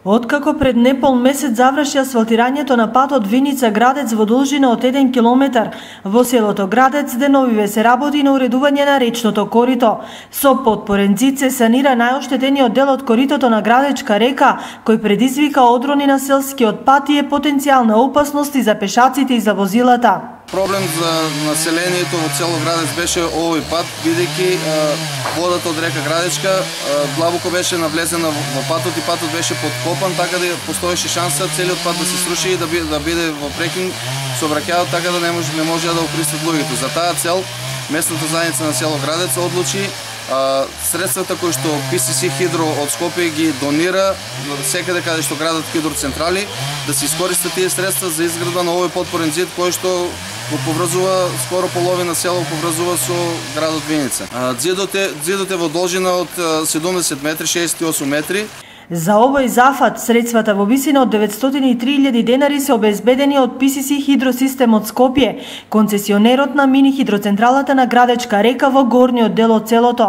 Откако пред непол месец заврши асфалтирањето на патот Виница-Градец во должина од 1 километар, во селото Градец деновиве се работи на уредување на речното корито. Со потпорен зид се санира најоштетениот дел од коритото на Градечка река, кој предизвика одрони на селскиот пат и е потенцијална опасност и за пешаците и за возилата. Проблем за населението во цело Градец беше овој пат, бидејќи водата од река Градечка длабоко беше навлезена во патот и патот беше подкопан, така да постоеше шанса целиот пат да се сруши и да биде во прекин сообраќајот, така да не може да го користат луѓето. За таа цел местната заедница на село Градец одлучи средствата кои што PCC Хидро од Скопје ги донира секаде каде што градат хидроцентрали, да се искористат тие средства за изградба на овој потпорен зид кој што го поврзува скоро половина село поврзува со градот Виница. Зидот е во должина од 70 метри, 68 метри. За овој зафат, средствата во висина од 903.000 денари се обезбедени од PCC Хидросистемот Скопје, концесионерот на мини хидроцентралата на Градечка река во горниот дел од селото.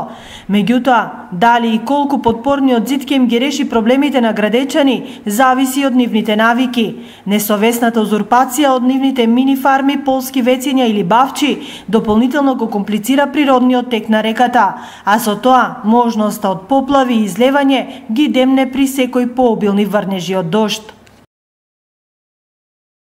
Меѓутоа, дали и колку потпорниот зид ќе им ги реши проблемите на градечани, зависи од нивните навики. Несовесната узурпација од нивните мини фарми, полски вецења или бавчи дополнително го комплицира природниот тек на реката, а со тоа можноста од поплави и излевање ги демне при секој пообилни врнежи од дожд.